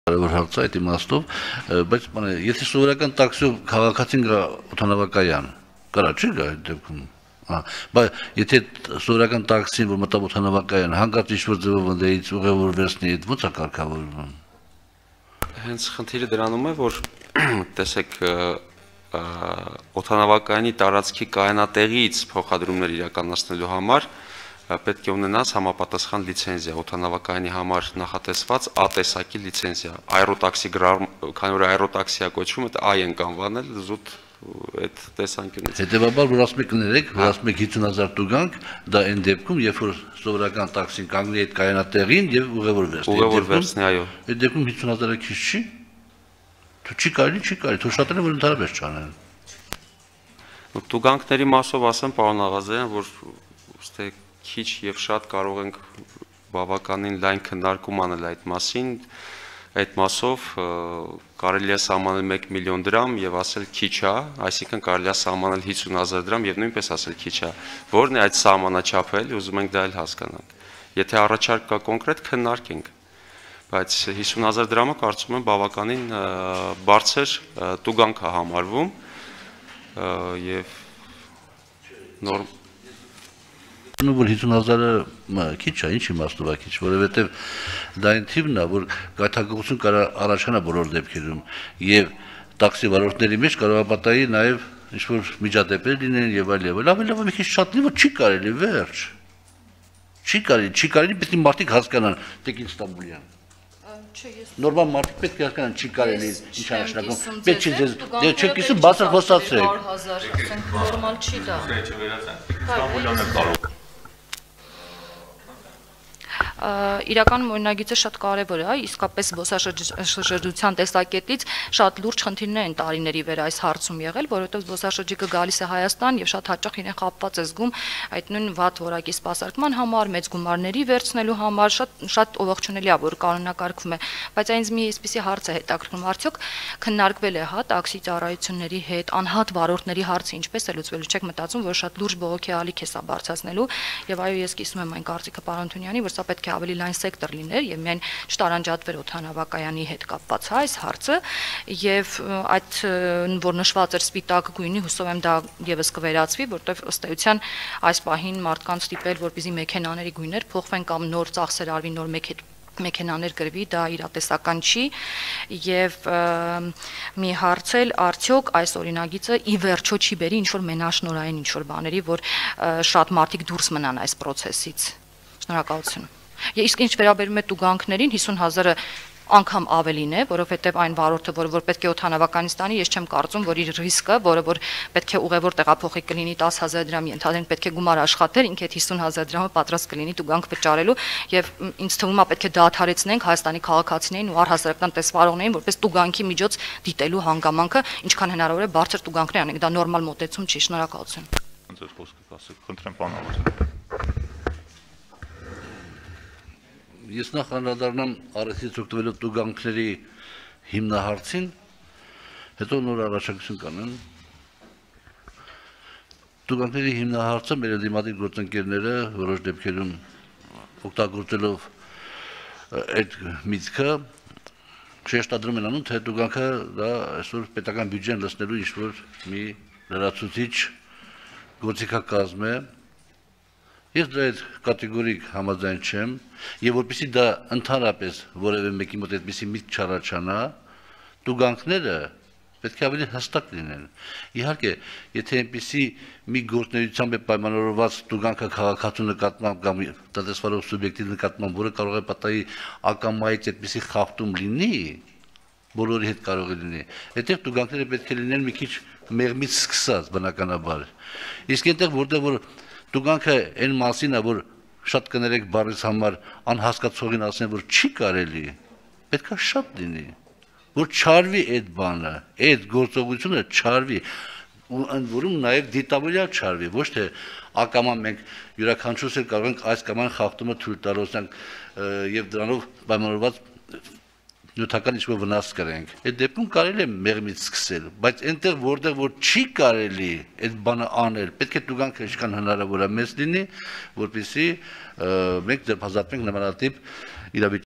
Կարևոր հարց է այդ իմաստով, բայց եթե սովորական տաքսիով քաղաքացին գա օդանավակայան, կարա չի գա այդ դեպքում։ Բայց եթե սովորական տաքսին, որ մտավ օդանավակայան, հանկարծ ինչ-որ ձևով ընդդեից ուղևոր վերցնի, ո՞նց է կարգավորվում։ Հենց խնդիրը դրանում է, որ տեսեք օդանավակայանի տարածքի կայանատեղից փոխադրումներ իրականացնելու համար պետք է ունենաս համապատասխան լիցենզիա, օդանավակայանի համար նախատեսված A-տեսակի լիցենզիա, այրոտաքսի, քանի որ այրոտաքսիա կոչվում, դա այ ենք անվանել զուտ այդ տեսանկյունից։ Հետևաբար, որ ասում եք կներեք, որ ասում եք 50,000 տուգանք, դա այն դեպքում, երբ որ սովորական տաքսին կանգնի այդ կայանատեղին եւ ուղևոր վերցնի։ Ուղևոր վերցնի, այո։ Այդ դեպքում 50,000-ը քիչ չի։ Თუ չի կարելի, թող շատերը որ ընդհանրապես չանեն։ Տուգանքների մասով ասեմ, պարոն Աղազարյան, որ ուստի քիչ եւ շատ կարող ենք բավականին լայն քննարկում անել այդ մասին, այդ մասով կարելի է սահմանել 1 միլիոն դրամ եւ ասել քիչ է, այսինքն կարելի է սահմանել 50,000 դրամ եւ նույնպես ասել քիչ է, որն է այդ սահմանաչափը, ուզում ենք դա էլ հասկանանք։ Եթե առաջարկ կա կոնկրետ քննարկենք, բայց 50,000 դրամը կարծում եմ բավականին բարձր տուգանք է համարվում եւ նորմ որ 50,000-ը քիչ է, ինչ իմաստով է քիչ, որովհետև դա այն թիվն է, որ գայթակղություն կարա առաջանա բոլոր դեպքերում եւ տաքսի վարորդների մեջ կարող է պատահի նաեւ ինչ-որ միջադեպեր լինեն եւ այլ եւ այլ, ավելի լավ մի քիչ շատ լինի, որ չի կարելի, վերջ։ Չի կարելի, պետք է մարդիկ հասկանան, տեկ Ստամբուլյան։ Նորմալ մարդիկ պետք է հասկանան, չի կարելի, ինչ է նշանակում։ Պետք չի ձեզ, դե չեք իսու բացր խոսացրեք։ Նորմալ չի դա։ Ստամբուլյանը կարող Իրականում օրինագիծը շատ կարևոր է, իսկապես զբոսաշրջության տեսակետից շատ լուրջ խնդիրներ են տարիների վեր այս հարցում եղել, որովհետև զբոսաշրջիկը գալիս է Հայաստան եւ շատ հաճախ իրեն խապված է զգում այդ նույն վատ որակի սպասարկման համար, մեծ գումարների վերցնելու համար, շատ ողջունելի է, որ կանոնակարգվում է, բայց այնց մի այսպիսի հարց է հետաքրքրում, արդյոք քննարկվել է, տաքսի ծառայությունների հետ, անհատ վարորդների հարցը ինչպես է լուծվելու, չեք մտածում, որ շատ լուրջ բողոքի ալիք է սա բարձրացնելու եւ այո, ես կիսում եմ այն կարծիքը պարոն Թունյանի, որ սա պետք է ավելի լայն սեկտոր լիներ եւ միայն չտարանջատվեր օդանավակայանի հետ կապված այս հարցը եւ այդ որ նշված էր սպիտակ գույնի հուսով եմ դա եւս կվերացվի, որտեղ ըստ էության այս պահին մարդկանց ստիպել որպեսզի մեքենաների գույներ փոխվեն կամ նոր ծախսեր արվի նոր մեքենաներ գրվի, դա իրատեսական չի եւ մի հարցել արդյոք այս օրինագիծը ի վերջո չի բերի ինչ որ մենաշնորային ինչ որ բաների, որ շատ մարդիկ դուրս մնան այս process-ից։ Շնորհակալություն։ Իսկ ինչ վերաբերում է տուգանքներին 50,000-ը անգամ ավելին է, որովհետև այն վարորդը, որ պետք է օդանավականից տանի, ես չեմ կարծում, որ իր ռիսկը, որ պետք է ուղևոր տեղափոխի կլինի 10,000 դրամ, ենթադրենք պետք է գումար աշխատել, ինքը այդ 50,000 դրամը պատրաստ կլինի տուգանք վճարելու եւ ինձ թվում է պետք է դադարեցնենք Հայաստանի քաղաքացիներին ու առհասարակական տեսվարողներին, որպես տուգանքի միջոց դիտելու հանգամանքը, ինչքան հնարավոր է բարձր տուգանքներ անենք, դա նորմալ մոտեցում չի, շնորհակալություն։ Ձեր խոսքը ասեք, խնդրեմ պարոն Աղազարյան։ Ես նախ անդրադառնամ առիթից օգտվելով տուգանքների հիմնահարցին, հետո նոր առաջարկություն կանեմ։ Տուգանքների հիմնահարցը մեր դիմադիր գործընկերները որոշ դեպքերում օգտագործելով այդ միտքը շեշտադրում են անում, թե տուգանքը դա այսօր պետական բյուջեն լցնելու ինչ-որ մի լրացուցիչ գործիքակազմ է։ Ես դրա այդ կատեգորիկ համաձայն չեմ, եւ որպեսզի դա ընդհանրապես որևէ մեկի մոտ այդպիսի միտք չառաջանա, տուգանքները պետք է ավելի հստակ լինեն։ Իհարկե, եթե այնպիսի մի գործունեությամբ է պայմանավորված տուգանքը քաղաքացու նկատմամբ կամ տնտեսվարող սուբյեկտի նկատմամբ, որը կարող է պատահի ակամայից այդպիսի խախտում լինի, բոլորի հետ կարող է լինի, այդտեղ տուգանքները պետք է լինեն մի քիչ մեղմից սկսած բնականաբար։ Իսկ այնտեղ որտեղ որ տուգանքը այն մասին է, որ շատ կներեք բառից համար անհասկացողին ասեն, որ չի կարելի, պետք է շատ լինի, որ չարվի այդ բանը, այդ գործողությունը չարվի, ու ընդ որում նաև դիտավորյալ չարվի, ոչ թե ակամա մենք յուրաքանչյուրս կարող ենք այս կամ այն խախտումը թույլ տալ եւ դրանով պայմանավորված նյութական ինչ-որ վնաս կրենք։ Այդ դեպքում կարելի է մեղմից սկսել, բայց այնտեղ որտեղ որ չի կարելի այդ բանը անել, պետք է տուգանքը ինչքան հնարավոր է մեծ լինի, որպեսզի մենք ձերբազատվենք նմանատիպ իրավիճակից։